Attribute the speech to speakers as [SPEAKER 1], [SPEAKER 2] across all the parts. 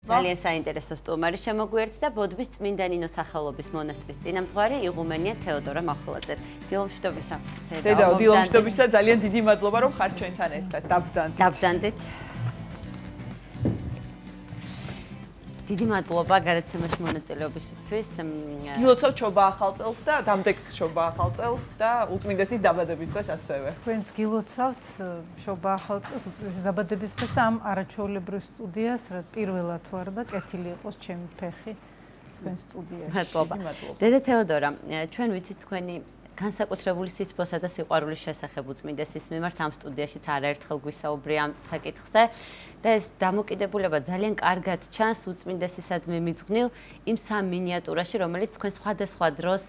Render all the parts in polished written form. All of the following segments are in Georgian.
[SPEAKER 1] ძალიან საინტერესო სტუმარი შემოგვიერთდა და ბოდბის წმინდა ნინოს სახელობის მონასტრის წინამძღვარი იღუმენია თეოდორა მახულაძე. დილომშვიდობისა.
[SPEAKER 2] დედაო, დილომშვიდობისა, ძალიან დიდი მადლობა რომ ხართ ჩვენთან ერთად.
[SPEAKER 1] დაბრძანდით. დიდი მადლობა გადაცემაში მონაწილეობისთვის.
[SPEAKER 2] გილოცავთ შობა ახალ წელს და დამდეგ შობა ახალ წელს და უწმინდესის დაბადების დღეს ასევე.
[SPEAKER 3] თქვენც გილოცავთ შობა ახალ წელს, უწმინდესის დაბადების დღეს და ამ არაჩვეულებრივ სტუდიას, რა პირველად ვარ და კეთილი იყოს ჩემი ფეხი თქვენ სტუდიაში.
[SPEAKER 1] მადლობა. დედა თეოდორა, ჩვენ ვიცით თქვენი განსაკუთრებული სიცბოსა და სიყვარულის შესახებ უწმინდესის მიმართ ამ სტუდიაშიც არაერთხელ გვისაუბრია ამ საკითხზე და ეს დამოკიდებულება ძალიან კარგად ჩანს უწმინდესისადმი მიძღვნილ იმ სამ მინიატურაში, რომელიც თქვენ სხვადასხვა დროს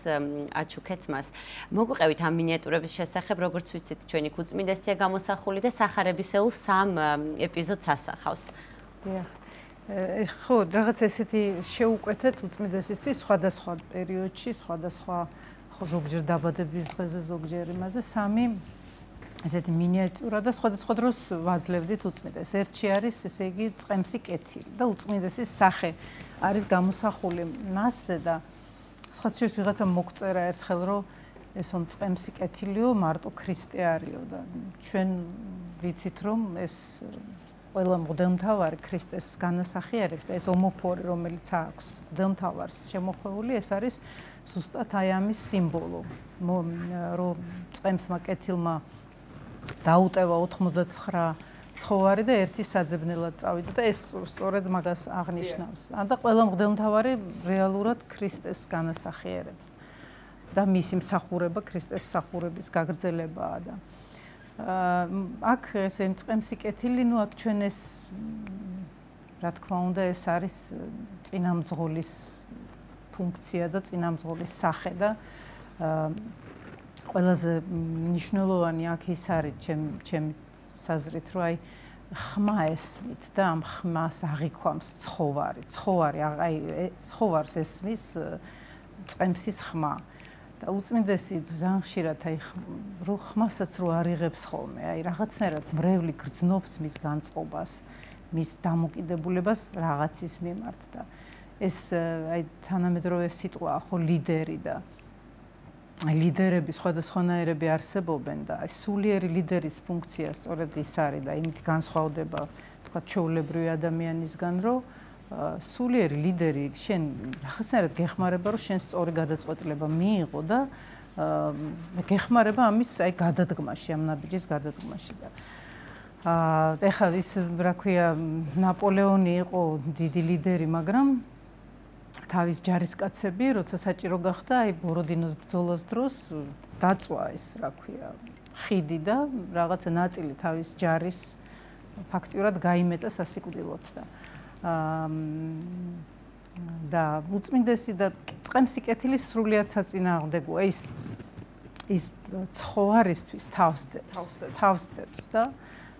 [SPEAKER 1] აჩუქეთ მას. მოგვიყევით ამ მინიატურების შესახებ, როგორც ვიცით, ჩვენი უწმინდესია გამოსახული და სახარებისეულ სამ ეპიზოდს ასახავს.
[SPEAKER 3] დიახ. ხო, რაღაც ესეთი შეუკვეთეთ უწმინდესისთვის სხვადასხვა პერიოდში, სხვადასხვა ზოგჯერ დაბადების დღეზე, ზოგჯერ იმაზე სამი ესეთი მინიატურა და სხვადასხვა დროს ვაძლევდით უწმინდეს. ერთში არის, ესე იგი, წყემსი კეთილი და უწმინდესის სახე არის გამოსახული მასზე და სხვა შორის ვიღაცა მოგწერა ერთხელ, რომ ესო წყემსი კეთილიო მარტო ქრისტე არისო და ჩვენ ვიცით, რომ ეს ყველა მღვდელმთავარი ქრისტეს განასახიერებს და ეს ომოფორი, რომელიც აქვს მღვდელმთავარს შემოხვეული, ეს არის ზუსტად აი ამის სიმბოლო, რომ წყემსმა კეთილმა დაუტევა 89 ცხოვარი და ერთი საძებნელად წავიდა და ეს სწორედ მაგას აღნიშნავს. და ყველა მღვდელმთავარი რეალურად ქრისტეს განასახიერებს და მისი მსახურება ქრისტეს მსახურების გაგრძელებაა და აქ ესე წყემსი კეთილი, ნუ აქ ჩვენ ეს რა თქმა უნდა ეს არის წინამძღოლის ფუნქცია და წინამძღოლის სახე და ყველაზე მნიშვნელოვანი აქ ის არის ჩემი საზრით, რომ აი ხმა ესმით და ამ ხმას აღიქვამს ცხოვარი. აი ცხოვარს ესმის წყემსის ხმა. და უწმინდესი ძალიან ხშირად აი ხმასაც რო არიღებს ხოლმე, აი რაღაცნაირად მრევლი გრძნობს მის განწყობას, მის დამოკიდებულებას რაღაცის მიმართ და ეს აი თანამედროვე სიტყვაა ხო ლიდერი და ლიდერები სხვადასხვანაირები არსებობენ და აი სულიერი ლიდერის ფუნქცია სწორედ ის არის და იმით განსხვავდება თქვა ჩვეულებრივი ადამიანისგან, რომ სულიერი ლიდერი შენ რაღაცნაირად გეხმარება, რომ შენ სწორი გადაწყვეტილება მიიღო და გეხმარება ამის აი გადადგმაში, ამ ნაბიჯის გადადგმაში და ეხლა ის რა ქვია ნაპოლეონი იყო დიდი ლიდერი, მაგრამ თავის ჯარისკაცები, როცა საჭირო გახდა, აი ბოროდინოს ბრძოლას დროს დაწვა ეს, რა ქვია, ხიდი და რაღაცა ნაწილი თავის ჯარის ფაქტიურად გაიმეტა სასიკვდილოდ და უწმინდესი და წყემსი კეთილი სრულიად საწინააღმდეგოა ის ცხოვარისთვის თავსდებს და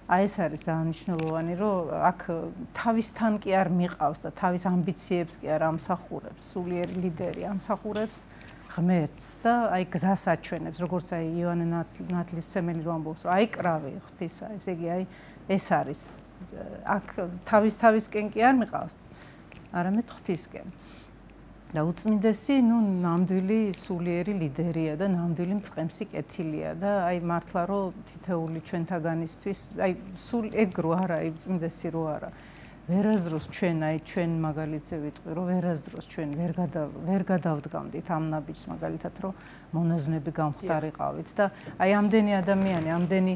[SPEAKER 3] აი ეს არის აღნიშნულოვანი, რომ აქ თავისთან კი არ მიყავს და თავის ამბიციებს კი არ ამსახურებს, სულიერი ლიდერი ამსახურებს ღმერთს და აი გზას აჩვენებს, როგორც აი იოანე ნათლისმცემელი რო ამბობს, რომ აი კრავი ღვთისა, ესე იგი აი ეს არის აქ თავისკენ კი არ მიყავს, არამედ ღვთისკენ. და უწმინდესი, ნუ ნამდვილი სულიერი ლიდერია და ნამდვილი მწყემსი კეთილია და აი მართლა რომ თითეული ჩვენთაგანისთვის, აი სულ ეგ რო არა, აი უწმინდესი რო არა. ვერაზროს ჩვენ, აი ჩვენ მაგალითზე ვიტყვი, რომ ვერაზროს ჩვენ ვერ გადავდგამდით ამ ნაბიჯს მაგალითად, რომ მონაზვნები გამხდარიყავით და აი ამდენი ადამიანი, ამდენი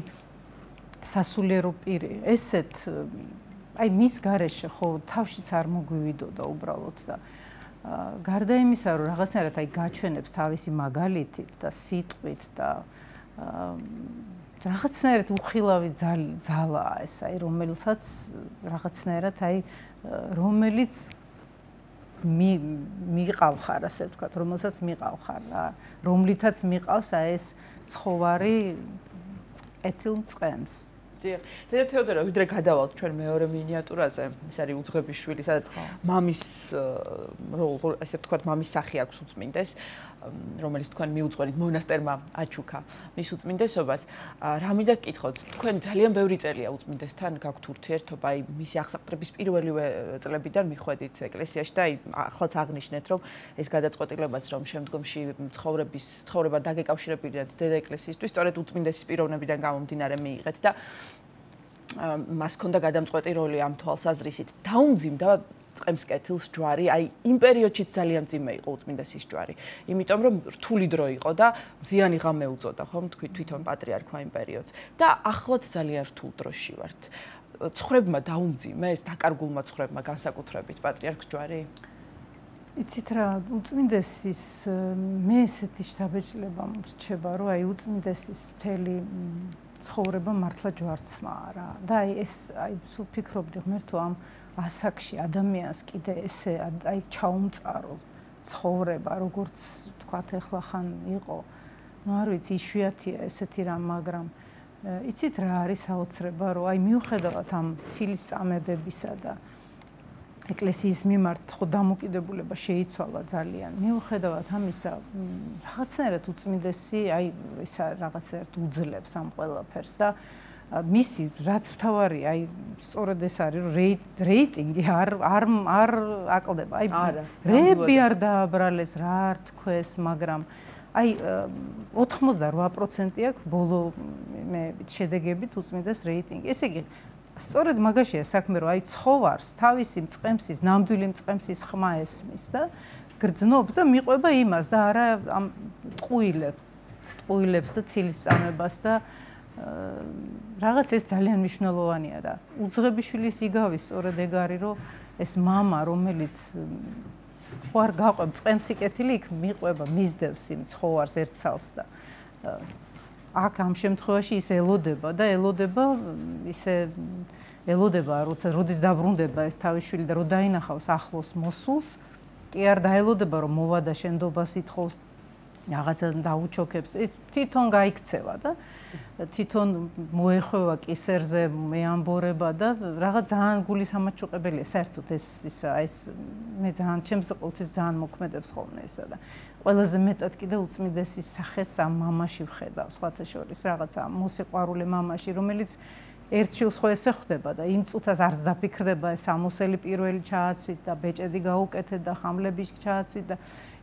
[SPEAKER 3] სასულიერო პირი, ესეთ აი მის გარეშე ხო თავშიც არ მოგვივიდოდა უბრალოდ და გარდა იმისა, რომ რაღაცნაირად აი გაჩვენებს თავისი მაგალითით და სიტყვით და რაღაცნაირად უხილავი ძალაა ეს, აი რომელსაც რაღაცნაირად აი რომელიც მიყავხარ, ასე ვთქვათ, რომელსაც მიყავხარ, რომლითაც მიყავს აი ეს ცხოვარი კეთილ წყემს.
[SPEAKER 2] დედა თეოდორა, ვიდრე გადავალთ ჩვენ მეორე მინიატურაზე, ეს არის უძღვების შვილი, სადაც მამის, ასე ვთქვათ, მამის სახე აქვს უწმინდეს. რომელიც თქვენ მიუძღვენით მონასტერმა აჩუქა მის უწმინდესობას. რა მინდა გკითხოთ, თქვენ ძალიან ბევრი წელია უწმინდესთან გაქვთ ურთიერთობა, აი მისი აღსაყდრების პირველივე წლებიდან მიხვედით ეკლესიაში და აი ახლაც აღნიშნეთ, რომ ეს გადაწყვეტილებაც რომ შემდგომში ცხოვრება დაგეკავშირებინათ დედა ეკლესიისთვის, სწორედ უწმინდესის პიროვნებიდან გამომდინარე მიიღეთ და მას ჰქონდა გადამწყვეტი როლი ამ თვალსაზრისით. დაუმძიმდა წყემს კეთილს ჯვარი, აი იმ პერიოდშიც ძალიან მძიმე იყო უწმინდესის ჯვარი. იმიტომ რომ რთული დრო იყო და მზიანი ღამე უწოდა, ხომ, თვითონ პატრიარქმა იმ პერიოდს. და ახლაც ძალიან რთულ დროში ვართ. ცხრებმა დაუმძიმეს, დაკარგულმა ცხრებმა განსაკუთრებით პატრიარქს ჯვარი?
[SPEAKER 3] იცით რა, უწმინდესის მე ესეთი შთაბეჭდილება მრჩება, რომ აი უწმინდესის მთელი ცხოვრება მართლა ჯვარცმაა რა. და აი ეს აი სულ ფიქრობდი ღმერთო ამ ასაკში ადამიანს კიდე ესე აი ჩაუმწარო ცხოვრება, როგორც თქვათ ეხლა ხან იყო. ნუ არ ვიცი, იშვიათია ესეთი რამ, მაგრამ იცით რა არის საოცრება, რომ აი მიუხედავად ამ ცილის წამებებისა და ეკლესიის მიმართ ხო დამოკიდებულება შეიცვალა ძალიან. მიუხედავად ამისა, რაღაცნაირად უწმინდესი აი ისა რაღაცნაირად უძლებს ამ ყველაფერს და მისი რაც მთავარი აი სწორედ ეს არის რომ რეიტინგი არ აკლდება. აი რეები არ დააბრალეს, რა არ თქვეს, მაგრამ აი 88% აქვს ბოლო შედეგებით უწმინდეს რეიტინგი. ესე იგი სწორედ მაგაშია საქმე, რომ აი ცხოვარს თავისი მწყემსის, ნამდვილი მწყემსის ხმა ესმის და გრძნობს და მიყვება იმას და არა ამ ტყუილებს და ცილის წამებას და რაღაც ეს ძალიან მნიშვნელოვანია და უძღებიშვილის იგავის სწორედ ეგ არის, რომ ეს მამა, რომელიც ხო არ გაყვებ წყემსი კეთილი იქ მიყვება, მისდევს იმ ცხოვარს ერთხელს და აქ ამ შემთხვევაში ის ელოდება, როცა როდის დაბრუნდება ეს თავის შვილი და რო დაინახავს ახლოს მოსულს, კი არ დაელოდება რომ მოვა და შენდობას ითხოვს, რაღაცა დაუჩოქებს, ეს თვითონ გაიქცევა და თვითონ მოეხვევა კისერზე, მეამბორება და რაღაც ძალიან გულისამაჩუყებელია საერთოდ ეს მე ძალიან ჩემს ყოველთვის ძალიან მოქმედებს ხოლმე ესა და ყველაზე მეტად კიდე უწმინდესის სახეს ამ მამაში ვხედავ, სხვათა შორის რაღაცა მოსიყვარულე მამაში, რომელიც ერთ შვილს ხო ესე ხვდება და იმ წუთას არც დაფიქრდება ეს ამოსელი პირველი ჩააცვით და ბეჭედი გაუკეთეთ და ხამლები ჩააცვით და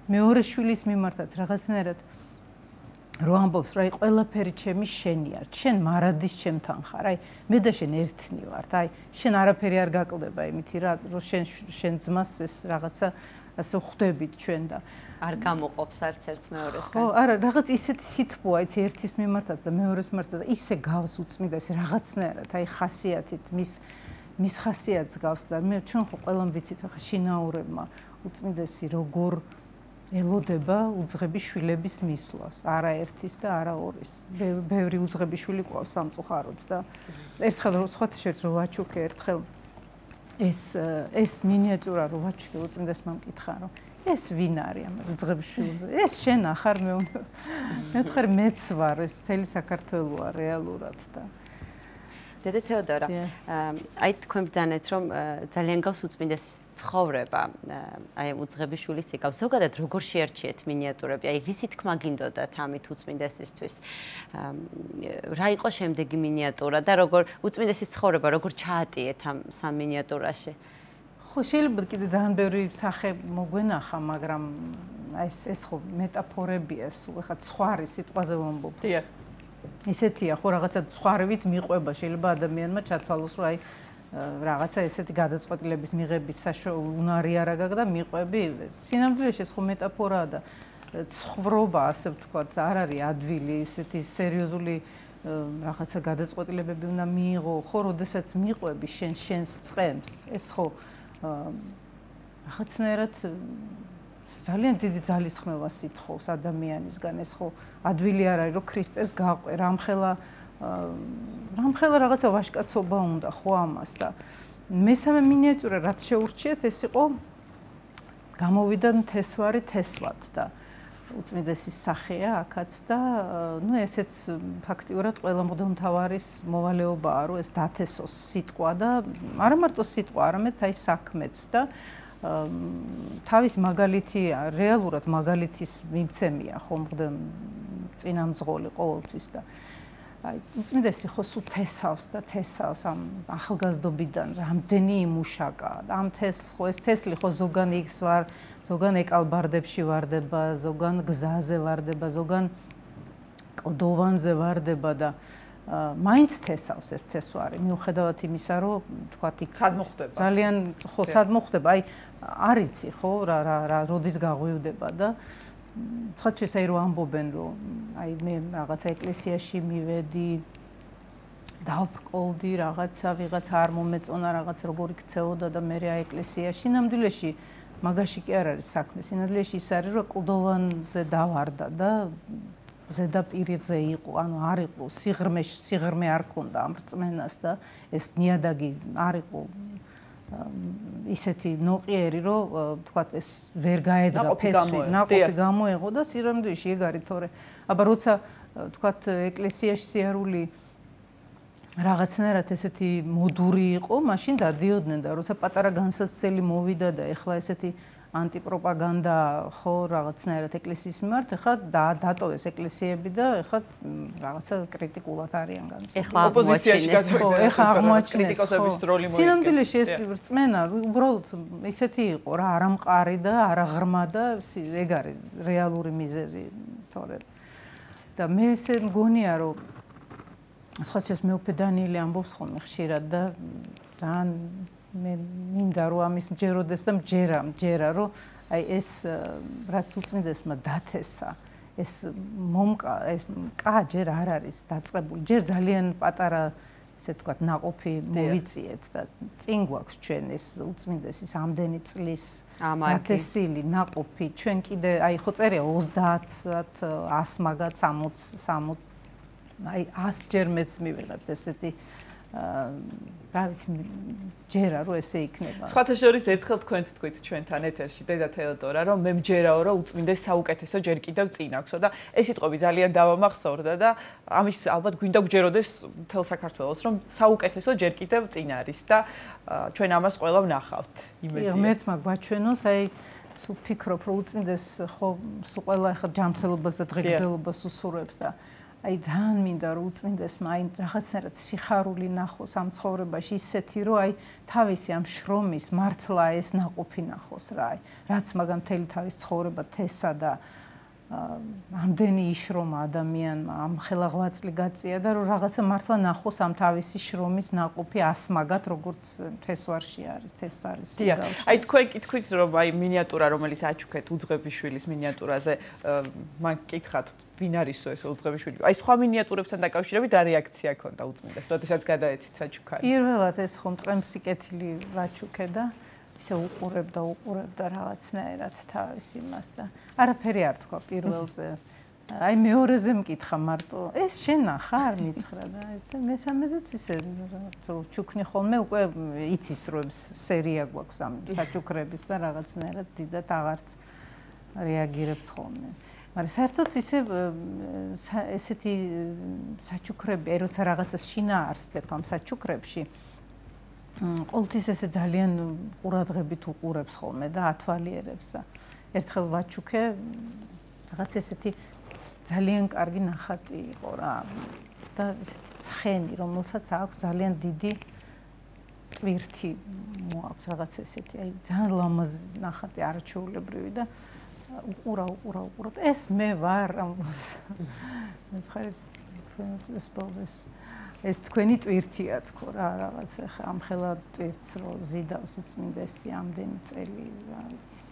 [SPEAKER 3] მეორე შვილის მიმართაც რაღაცნაირად რო ამბობს, რომ აი ყველაფერი ჩემი შენია, შენ მარადის ჩემთან ხარ, აი მე და შენ ერთნი ვართ, აი შენ არაფერი არ გაკლდება იმითი რა, რომ შენ ძმას ეს რაღაცა ასე ხვდებით ჩვენ და
[SPEAKER 1] არ გამოყოფს არც ერთ მეორესგან.
[SPEAKER 3] ხო, არა, რაღაც ისეთი სითბოა, იცი ერთის მიმართაც და მეორეს მიმართაც და ისე გავს უწმინდეს რაღაცნაირად, აი ხასიათით მის ხასიათს გავს და მე ჩვენ ხო ყველამ ვიცით ახლა შინაურებმა უწმინდესი როგორ ელოდება უძღები შვილების მისვლას, არა ერთის და არა ორის. ბევრი უძღები შვილი ყავს სამწუხაროდ და ერთხელ სხვათა შორის რო ვაჩუქე, ერთხელ ეს მინიატურა რო ვაჩუქე უწმინდესმა მკითხა, რომ ეს ვინ არის ამას უძღები შვილზე? ეს შენ ახარ მე ვთქვი მეც ვარ, ეს მთელი საქართველოა რეალურად და
[SPEAKER 1] დედა თეოდორა, აი თქვენ ბრძანეთ, რომ ძალიან გავს უწმინდესის ცხოვრება, აი უძღებიშვილის იგავს. ზოგადად როგორ შეერჩიეთ მინიატურები? აი რისი თქმა გინდოდათ ამით უწმინდესისთვის? რა იყო შემდეგი მინიატურა და როგორ უწმინდესის ცხოვრება როგორ ჩაატიეთ ამ სამ მინიატურაში?
[SPEAKER 3] ხო, შეიძლება კიდე ძალიან ბევრი სახე მოგვენახა, მაგრამ ეს ხო მეტაფორებია, სულ ხა ცხვარი სიტყვაზე ვამბობ.
[SPEAKER 2] დიახ.
[SPEAKER 3] ისეთია ხო რაღაცა ცხვარივით მიყვება შეიძლება ადამიანმა ჩათვალოს რომ აი რაღაცა ესეთი გადაწყვეტილების მიღების უნარი არ აგაგ და მიყვები სინამდვილეში ეს ხო მეტაფორაა და ცხრობა ასე ვთქვათ არ არის ადვილი ესეთი სერიოზული რაღაცა გადაწყვეტილებები უნდა მიიღო ხო როდესაც მიყვები შენს წყემს ეს ხო რაღაცნაირად ძალიან დიდი ძალისხმევას ითხოვს ადამიანისგან ეს ხო ადვილი არ არის რომ ქრისტეს გაყვე რამხელა რაღაცა ვაჟკაცობა უნდა ხო ამას და მესამე მინიატურა რაც შეურჩიეთ ეს იყო გამოვიდა თესვარი თესვად და უწმინდესის სახეა აქაც და ნუ ესეც ფაქტიურად ყველა მღვდელმთავარის მოვალეობაა რომ ეს დათესოს სიტყვა და არა მარტო სიტყვა არამედ აი საქმეც და თავის მაგალითი რეალურად მაგალითის მიმცემია ხომ წინამძღოლი ყოველთვის და აი უწმინდესი ხო სულ თესავს ამ ახალგაზრდობიდან რამდენი იმუშაკა ამ თესლს ხო ეს თესლი ხო ზოგან იქს ვარ ზოგან ეკალბარდებში ვარდება ზოგან გზაზე ვარდება ზოგან კლდოვანზე ვარდება და მაინც თესავს ეს თესვარი მიუხედავად იმისა რომ თქვა იქ
[SPEAKER 2] სად მოხდება
[SPEAKER 3] ძალიან ხო სად მოხდება აი არ იცი ხო რა როდის გაღვივდება და თქვათ აი რომ ამბობენ რომ აი მე რაღაცა ეკლესიაში მივედი დავბრკოლდი ვიღაცა არ მომეწონა რაღაც როგორ იქცეოდა და მე რა ეკლესიაში ნამდვილეში მაგაში კი არ არის საქმე სინამდვილეში ის არის რომ კლდოვანზე დავარდა და ზედაპირზე იყო ანუ არ იყო სიღრმე არ ქონდა ამ რწმენას და ეს ნიადაგი არ იყო ისეთი ნოყიერი რომ თქვათ ეს ვერ გაედგა ფესვი ნაყოფი გამოეღო და სინამდვილეში ეგ არის თორე აბა როცა თქვათ ეკლესიაში სიარული რაღაცნაირად ესეთი მოდური იყო მაშინ დადიოდნენ და როცა პატარა განსაცდელი მოვიდა და ეხლა ესეთი ანტიპროპაგანდა ხო რაღაცნაირად ეკლესიის მიმართ ეხლა დატოვეს ეკლესიები და ეხლა რაღაცა კრიტიკულად არიან განწყობილი.
[SPEAKER 1] ეხლა ოპოზიციაში
[SPEAKER 3] ხო, ეხლა აღმოაჩინეს
[SPEAKER 2] კრიტიკოსების როლი მოიგებს.
[SPEAKER 3] სინამდვილეში ეს რწმენა უბრალოდ ისეთი იყო რა არამყარი და არაღრმა და ეგ არის რეალური მიზეზი თორე და მე ესე მგონია რომ სხვაჩას მეუფე დანიელი ამბობს ხოლმე ხშირად და ძალიან მე მინდა რომ ამის მჯეროდეს და მჯერა რომ აი ეს რაც უწმინდესმა დათესა ეს მომკა ეს კა ჯერ არ არის დაწყებული ჯერ ძალიან პატარა ესე ვთქვათ ნაყოფი მოვიწიეთ და წინ გვაქვს ჩვენ ეს უწმინდესის ამდენი წლის დათესილი ნაყოფი ჩვენ კიდე აი ხო წერია 30 100 მაგათ 60 აი 100 ჯერ მეც მივიღებთ ესეთი რა ვიცი ჯერა რომ ესე იქნება.
[SPEAKER 2] სხვათა შორის ერთხელ თქვენც თქვით ჩვენთან ეთერში დედა თეოდორა რომ მე მჯერაო რომ უწმინდეს საუკეთესო ჯერ კიდევ წინ აქვსო და ეს სიტყვები ძალიან დავამახსოვრდა და ამის ალბათ გვინდა გჯეროდეს მთელ საქართველოს რომ საუკეთესო ჯერ კიდევ წინ არის და ჩვენ ამას ყველა ვნახავთ იმედია.
[SPEAKER 3] ღმერთმა გვაჩვენოს აი სულ ფიქრობ რომ უწმინდეს ხო სულ ყველა ახლა ჯანმრთელობას და დღეგრძელობას უსურვებს და აი ძალიან მინდა რომ უწმინდესმა აი რაღაცნაირად სიხარული ნახოს ამ ცხოვრებაში ისეთი რომ აი თავისი ამ შრომის მართლა ეს ნაყოფი ნახოს რა აი რაც მაგამ მთელი თავის ცხოვრება თესა და ამდენი იშრომა ადამიანმა ამ ხელაღვაწლი გაწია და რომ რაღაცა მართლა ნახოს ამ თავისი შრომის ნაყოფი ასმაგად როგორც თესვარში არის თეს არის
[SPEAKER 2] აი თქვენ კითხვით რომ აი მინიატურა რომელიც აჩუქეთ უძღებიშვილის მინიატურაზე მან კითხათ ვინ არისო ეს უძღებიშვილი? აი სხვა მინიატურებთან დაკავშირებით რა რეაქცია ქონდა უწმინდეს, როდესაც გადაეცით საჩუქარი?
[SPEAKER 3] პირველად ეს ხომ წემსი კეთილი ვაჩუქე და ისე უყურებდა რაღაცნაირად თავის იმას და არაფერი არ თქვა პირველზე. აი მეორეზე მკითხა მარტო, ეს შენ ხარ მითხრა და ესე მესამეზეც ისე ჩუქნი ხოლმე უკვე იცის რომ სერია გვაქვს ამ საჩუქრების და რაღაცნაირად დიდად აღარც რეაგირებს ხოლმე. მაგრამ საერთოდ ისე ესეთი საჩუქრები, აი როცა რაღაცას შინაარსებ ამ საჩუქრებში, ყოველთვის ესე ძალიან ყურადღებით უყურებს ხოლმე და ათვალიერებს და ერთხელ ვაჩუქე რაღაც ესეთი ძალიან კარგი ნახატი იყო რა და ესეთი ცხენი, რომელსაც აქვს ძალიან დიდი ტვირთი მოაქვს რაღაც ესეთი, აი ძალიან ლამაზი ნახატი არაჩვეულებრივი და უყურა ეს მე ვარ ამბობს მე ხარ ეს თქვენი ტვირთია თქო რა რაღაც ხა ამ ხელა ტვირთს რო ზიდავს უწმინდესი ამდენი წელი რა ვიცი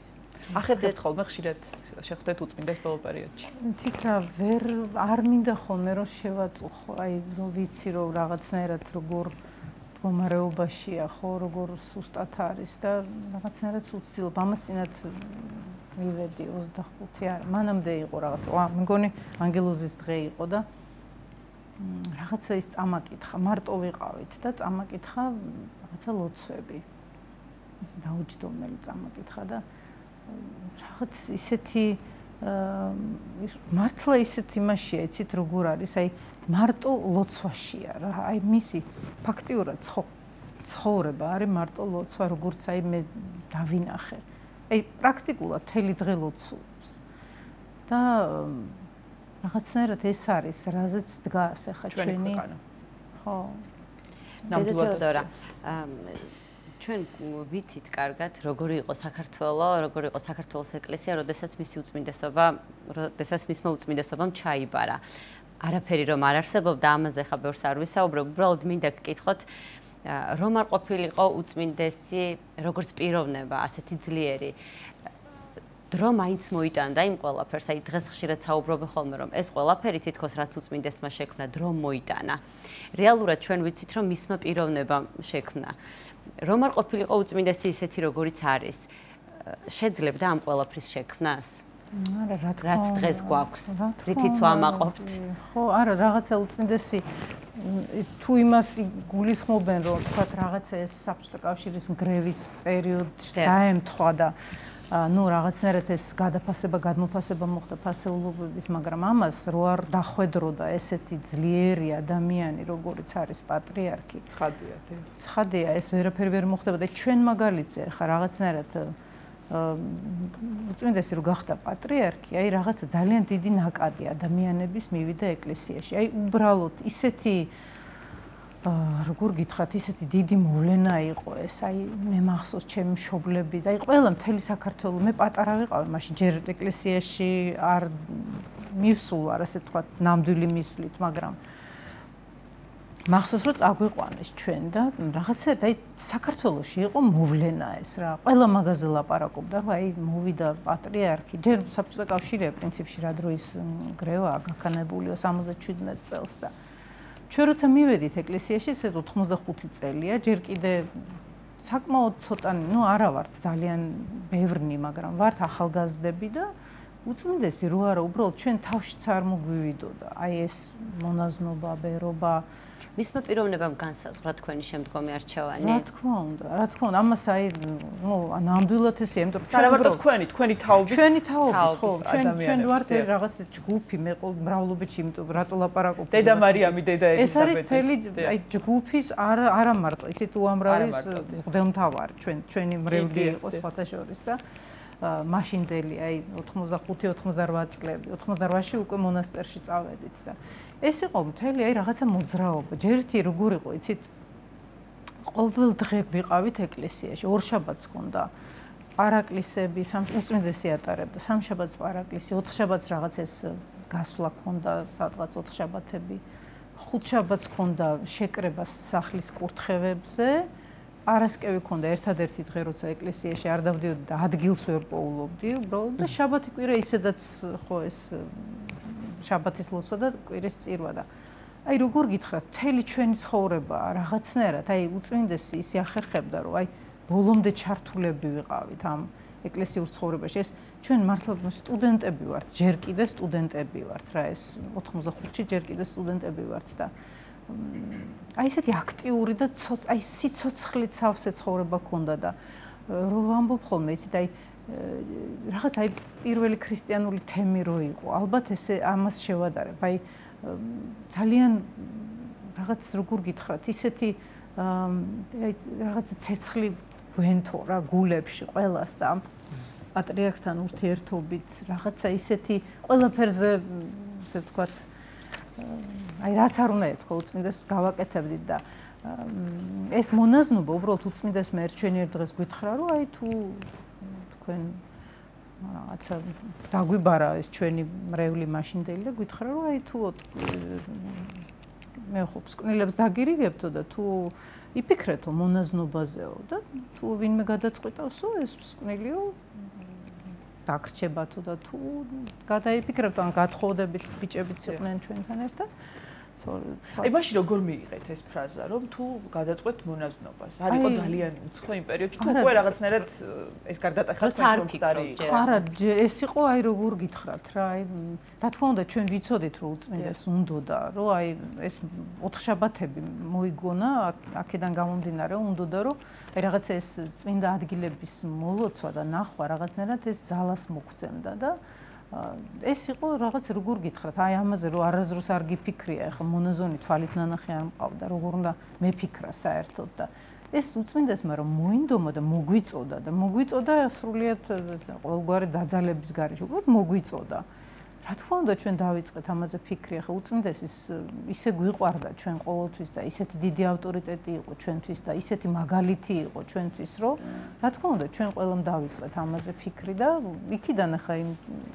[SPEAKER 2] ახერხებთ ხოლმე ხშირად შეხვდეთ უწმინდეს ბოლო პერიოდში
[SPEAKER 3] თითქა ვერ არ მინდა ხოლმე რომ შევაწუხო აი რომ ვიცი რომ რაღაცნაირად როგორ მდგომარეობაშია ხო როგორ სუსტად არის და რაღაცნაირად უცდილობ ამასინათ მივედი 25 არ მანამდე იყო რაღაცა მგონი ანგელოზის დღე იყო და რაღაცა ის წამაკითხა მარტო ვიყავით და წამაკითხა რაღაცა ლოცვები დაუჯდომელი წამაკითხა და რაღაც ისეთი მართლა ისეთ იმაშია იცით როგორ არის აი მარტო ლოცვაშია რა აი მისი ფაქტიურად ცხოვრება არის მარტო ლოცვა, როგორც აი მე დავინახე. აი პრაქტიკულად მთელი დღე ლოცულობს. და რაღაცნაირად ეს არის, რაზეც დგას ახლა ჩვენი ხო.
[SPEAKER 1] დედა თეოდორა, ჩვენ ვიცით კარგად, როგორი იყო საქართველო, როგორი იყო საქართველოს ეკლესია, როდესაც მისმა უწმინდესობამ ჩაიბარა. არაფერი რომ არ არსებობდა, ამაზე ხა ბევრს არ ვისაუბრებ, უბრალოდ მინდა გკითხოთ, რომ არ ყოფილიყო უწმინდესი როგორც პიროვნება, ასეთი ძლიერი. დრო მაინც მოიტანდა იმ ყველაფერს, აი დღეს ხშირად საუბრობენ ხოლმე, რომ ეს ყველაფერი თითქოს რაც უწმინდესმა შექმნა, დრო მოიტანა. რეალურად ჩვენ ვიცით, რომ მისმა პიროვნებამ შექმნა. რომ არ ყოფილიყო უწმინდესი ისეთი, როგორიც არის, შეძლებდა ამ ყველაფრის შექმნას?
[SPEAKER 3] არა, რა თქმა უნდა.
[SPEAKER 1] რაც დღეს გვაქვს, რითიც ვამაყობთ.
[SPEAKER 3] ხო, არა, რაღაცა უწმინდესი თუ იმას გულისხმობენ, რომ თქვათ რაღაცა ეს საბჭოთა კავშირის ნგრევის პერიოდში დაემთხვა და ну რაღაცნაირად ეს გადაფასება, გადმოფასება მოხდა ფასეულობების, მაგრამ ამას რო არ დახვედროდა ესეთი ძლიერი ადამიანი, როგორიც არის პატრიარქი. ცხადია, ეს ვერაფერი ვერ მოხდება და ჩვენ მაგალითზე ხა რაღაცნაირად უწმინდესი რო გახდა პატრიარქი, აი რაღაცა ძალიან დიდი ნაკადი ადამიანების მივიდა ეკლესიაში. აი უბრალოდ ისეთი როგორ გითხრათ, ისეთი დიდი მოვლენა იყო ეს. აი მე მახსოვს ჩემი მშობლები, აი ყველა მთელი საქართველო, მე პატარა ვიყავი, მაშინ ჯერ ეკლესიაში არ მივსულ ვარ, ასე ვთქვათ, ნამდვილი მისვლით, მაგრამ მახსოვს რომ წაგვიყვანეს ჩვენ და რაღაცა აი საქართველოში იყო მოვლენა ეს რა. ყველა მაგაზე ლაპარაკობდა, რომ აი მოვიდა პატრიარქი. ჯერ საბჭოთა კავშირია პრინციპში რა დროის ნგრევაა გაქანებულიო 77 წელს და ჩვენ როცა მივედით ეკლესიაში, ეს 85 წელია, ჯერ კიდე საკმაოდ ცოტანი, ну არა ვართ ძალიან ბევრნი, მაგრამ ვართ ახალგაზრდები და უწმინდესი რო არა, უბრალოდ ჩვენ თავშიც არ მოგვივიდოდა. აი ეს მონაზნობა, ბერობა
[SPEAKER 1] მისმა პიროვნებამ განსაზღვრა თქვენი შემდგომი არჩევანი?
[SPEAKER 3] რა თქმა უნდა, ამას აი ნამდვილად ესეა, იმიტომ რომ
[SPEAKER 2] არა მარტო თქვენი თაობის,
[SPEAKER 3] ხო, ჩვენ ვართ რაღაც ჯგუფი, მე ყოველ მრავლობებში, იმიტომ რატო ლაპარაკობ.
[SPEAKER 2] დედა მარიამი, დედა ელიზაბეტი.
[SPEAKER 3] ეს არის თელი აი ჯგუფის არა მარტო, იცით უამრავის მღვდელმთავარი, ჩვენი მრევლი იყო სხვათა შორის და მაშინდელი აი 85-88 წლები, 88-ში უკვე მონასტერში წავედით და ეს იყო მთელი აი რაღაცა მოძრაობა. ჯერეთი როგორ იყო, იცით, ყოველ დღე ვიყავით ეკლესიაში, ორშაბათს ჰქონდა პარაკლისები, უწმინდესი ატარებდა, სამშაბათს პარაკლისი, ოთხშაბათს რაღაც ეს გასვლა ჰქონდა, სადღაც ოთხშაბათები, ხუთშაბათს ჰქონდა შეკრება სახლის კურთხევებზე, პარასკევი ჰქონდა ერთადერთი დღე, როცა ეკლესიაში არ დავდიოდი და ადგილს ვერ პოულობდი, უბრალოდ და შაბათი კვირა ისედაც ხო ეს შაბათის ლოცვა და კვირის წირვა და აი როგორ გითხრათ, მთელი ჩვენი ცხოვრება რაღაცნაირად აი უწმინდესი ისე ახერხებდა, რომ აი ბოლომდე ჩართულები ვიყავით ამ ეკლესიურ ცხოვრებაში. ეს ჩვენ მართლა სტუდენტები ვართ, ჯერ კიდე სტუდენტები ვართ რა, ეს 85-ში ჯერ კიდე სტუდენტები ვართ და აი ესეთი აქტიური და აი სიცოცხლით სავსე ცხოვრება ქონდა და რო ვამბობ ხოლმე, იცით აი რაღაც აი პირველი ქრისტიანული თემი რო იყო, ალბათ ესე ამას შევადარებ. აი ძალიან რაღაც როგორ გითხრათ, ისეთი აი რაღაც ცეცხლი ვენთო რა გულებში ყველას და ამ პატრიარქთან ურთიერთობით რაღაცა ისეთი ყველაფერზე ესე ვთქვათ აი რაც არ უნდა ეთქვა უწმინდეს გავაკეთებდით და ეს მონაზნობა უბრალოდ უწმინდეს მე ერთვენიერ დღეს გითხრა რომ აი თუ თქვენ რაღაცა დაგვიბარა ეს ჩვენი მრევლი მაშინდელი და გითხრა რომ აი თუ მე ხო მსკვნელებს დაგირიგებთო და თუ იფიქრეთო მონაზნობაზეო და თუ ვინმე გადაწყვიტავსო ეს მსკვნელიო დაგრჩებათო და თუ გადაიფიქრებთ ან გათხოვდებით ბიჭებიც იყვნენ ჩვენთან ერთად
[SPEAKER 2] აი მაშინ როგორ მიიღეთ ეს ფრაზა რომ თუ გადაწყვეტ მონაზნობას არ იყო ძალიან უცხო იმ პერიოდში თუ უკვე რაღაცნაირად ეს გარდატეხა
[SPEAKER 1] მწარი იყო
[SPEAKER 3] არა ეს იყო აი როგორ გითხრათ რა აი რა თქმა უნდა ჩვენ ვიცოდით რომ უწმინდეს უნდოდა რომ აი ეს ოთხშაბათები მოიგონა აქედან გამომდინარე უნდოდა რომ აი რაღაცა ეს წმინდა ადგილების მოლოცვა და ნახვა რაღაცნაირად ეს ძალას მოგცემდა და ეს იყო რაღაც როგორ გითხრათ აი ამაზე რომ არაზრუს არ გიფიქრია ეხა მონაზონი თვალით ნანახი არ მყავდა როგორ უნდა მეფიქრა საერთოდ და ეს უწმინდესმა რომ მოინდომა და მოგვიწოდა და მოგვიწოდა სრულიად ყოველგვარი დაძალების გარეშე, უბრალოდ მოგვიწოდა. რა თქმა უნდა ჩვენ დავიწყეთ ამაზე ფიქრი, ახლა უწმინდესის ისე გვიყვარდა ჩვენ ყოველთვის და ისეთი დიდი ავტორიტეტი იყო ჩვენთვის და ისეთი მაგალითი იყო ჩვენთვის, რომ რა თქმა უნდა ჩვენ ყველამ დავიწყეთ ამაზე ფიქრი და იქიდან ახლა იმ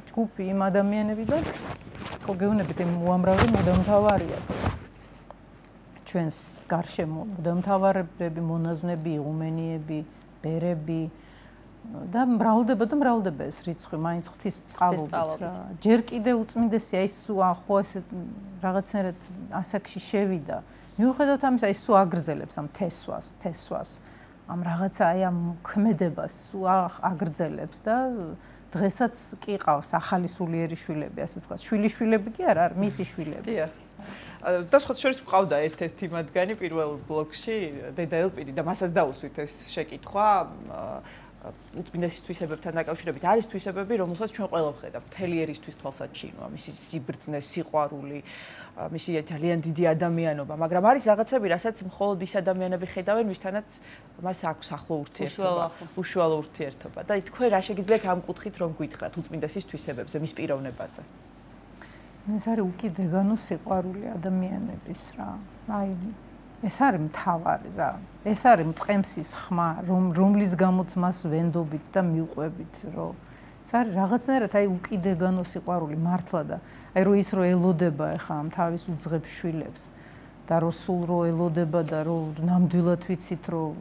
[SPEAKER 3] ჯგუფი იმ ადამიანებიდან ხო გეუბნებით იმ უამრავი მუდამთავარია ჩვენს გარშემო მუდამთავარები, მონაზვნები, იღუმენიები, ბერები და მრავლდება ეს რიცხვი, მაინც ღვთის წყალობით რა. ჯერ კიდე უწმინდესია ის ხო ესე რაღაცნაირად ასაკში შევიდა. მიუხედავად ამისა, ის აგრძელებს ამ თესვას, ამ რაღაცა აი ამ ქმედებას აგრძელებს და დღესაც კი ყავს ახალი სულიერი შვილები, ასე ვთქვათ. შვილიშვილები კი არა, მისი შვილები.
[SPEAKER 2] დიახ. და სხვა შორის მყავდა ერთ-ერთი მათგანი პირველ ბლოკში, დედა ელპირი და მასაც დაუსვით ეს შეკითხვა. უწმინდესის თვისებებთან დაკავშირებით არის თვისებები, რომელსაც ჩვენ ყველა ვხედავთ, მთელი ერისთვის თვალსაჩინოა, მისი სიბრძნე, სიყვარული, მისი ძალიან დიდი ადამიანობა, მაგრამ არის რაღაცები, რასაც მხოლოდ ის ადამიანები ხედავენ, ვისთანაც მას აქვს ახლო ურთიერთობა, უშუალო ურთიერთობა. და თქვენ რა შეგიძლიათ ამ კუთხით რომ გითხრათ უწმინდესის თვისებებზე, მის პიროვნებაზე?
[SPEAKER 3] ეს არის უკიდეგანო სიყვარული ადამიანების რა. აი ეს არის მთავარი რა. ეს არის მწყემსის ხმა, რომლის გამოც მას ვენდობით და მიუყვებით, რომ ეს არის რაღაცნაირად აი უკიდეგანო სიყვარული მართლა და აი რომ ის რო ელოდება ახლა ამ თავის უძღებ შვილებს და რო სულ რო ელოდება და რო ნამდვილად ვიცით რომ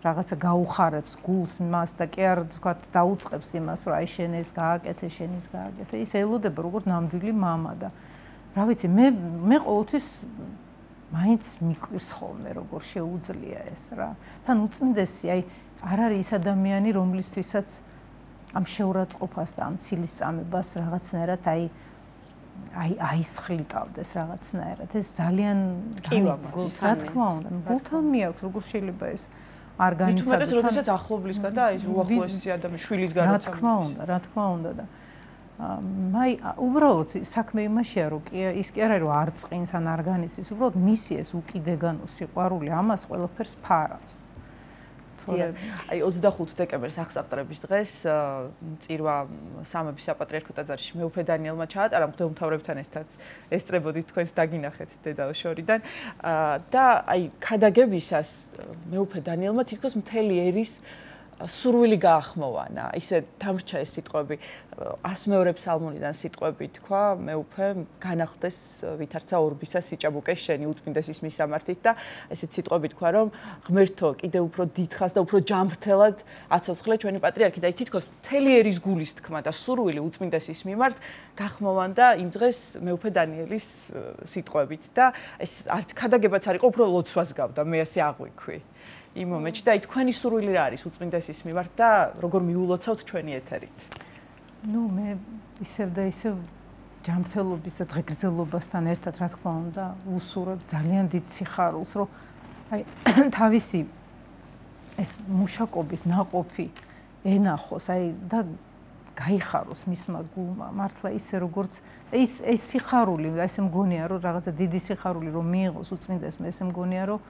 [SPEAKER 3] რაღაცა გაუხარებს გულს მას და კი არ ვთქვათ დაუწყებს იმას რომ აი შენ ეს გააკეთე, შენ ის გააკეთე. ის ელოდება როგორც ნამდვილი მამა და რა ვიცი მე ყოველთვის მაინც მიკვირს ხოლმე როგორ შეუძლია ეს რა. თან უწმინდესი აი არ არის ის ადამიანი რომლისთვისაც ამ შეურაცხყოფას და ამ ცილის წამებას რაღაცნაირად აისხლიტავდეს რაღაცნაირად. ეს ძალიან განიცდის, რა თქმა უნდა. გულთან მიაქვს როგორ შეიძლება ეს არ განიცადოს.
[SPEAKER 2] თუმცა როდესაც ახლობლისგან და აი უახლოესი ადამიანის შვილისგან
[SPEAKER 3] რა თქმა უნდა და მაი უბრალოდ საქმე იმაშია რომ ის კი არა რომ არ წყინს ან არ განიცდის, უბრალოდ მისი ეს უკიდეგანო სიყვარული ამას ყველაფერს ფარავს.
[SPEAKER 2] აი 25 დეკემბერს აღსაყდრების დღეს წირვა სამების საპატრიარქო ტაძარში მეუფე დანიელმა ჩაატარა მღვდელმთავრებთან ერთად ესწრებოდით თქვენს დაგინახეთ დედაოშორიდან და აი ქადაგებისას მეუფე დანიელმა თითქოს მთელი ერის სურვილი გაახმოვანა. ისე დამრჩა ეს სიტყვები 100 ფსალმუნიდან სიტყვები თქვა მეუფე განახდეს ვითარცა ორბისა სიჭაბუკე შენი უწმინდესის მისამართით და ესეთ სიტყვები თქვა რომ ღმერთო კიდე უფრო დიდხანს და უფრო ჯანმრთელად აცოცხლე ჩვენი პატრიარქი და თითქოს მთელი ერის გულის თქმა და სურვილი უწმინდესის მიმართ გახმოვანდა იმ დღეს მეუფე დანიელის სიტყვებით და ეს არც ქადაგებაც არ იყო, უფრო ლოცვას გავდა, მე ასე აღვიქვი. იმ მომენტში და აი თქვენი სურვილი რა არის უწმინდესის მიმართ და როგორ მიულოცავთ ჩვენი ეთერით?
[SPEAKER 3] ნუ მე ისევ და ისევ ჯანმრთელობის და დღეგრძელობასთან ერთად რა თქმა უნდა უსურვებ ძალიან დიდ სიხარულს, რომ აი თავისი ეს მუშაკობის ნაყოფი ენახოს, აი და გაიხაროს მისმა გულმა. მართლა ისე როგორც ეს სიხარული, ესე მგონია რომ რაღაცა დიდი სიხარული რომ მიიღოს უწმინდესმა, ესე მგონია რომ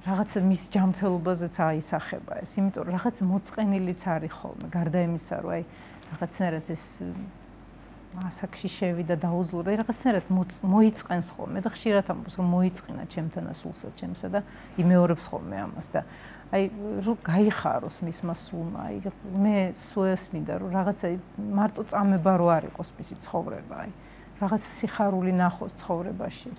[SPEAKER 3] რაღაცა მის ჯანმრთელობაზეც აისახება ეს, იმიტომ რომ რაღაცა მოწყენილიც არის ხოლმე, გარდა იმისა, რომ აი რაღაცნაირად ეს ასაკში შევიდა დაუძლო და რაღაცნაირად მოიწყენს ხოლმე და ხშირად ამბობს რომ მოიწყინა ჩემთანა სულსა ჩემსა და იმეორებს ხოლმე ამას და აი რომ გაიხაროს მისმა სულმა, აი მე სულ ესმინდა რომ რაღაცა მარტო წამება რო არ იყოს მისი ცხოვრება, აი რაღაცა სიხარული ნახოს ცხოვრებაში.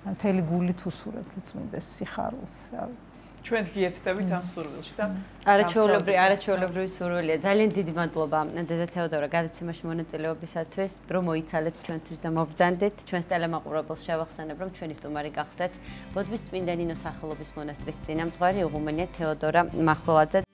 [SPEAKER 3] მთელი გულით უსურებ უწმინდეს სიხარულს, რა ვიცი.
[SPEAKER 2] ჩვენც გიერთდებით ამ სურვილში და
[SPEAKER 1] არაჩვეულებრივი სურვილია. ძალიან დიდი მადლობა დედა თეოდორა გადაცემაში მონაწილეობისათვის, რომ მოიცალეთ ჩვენთვის და მობრძანდით. ჩვენს ტელემაყურებელს შევახსენებ, რომ ჩვენი სტუმარი გახდეთ ბოდბის წმინდა ნინოს სახელობის მონასტრის წინამძღვარი იღუმენია თეოდორა მახველაძე.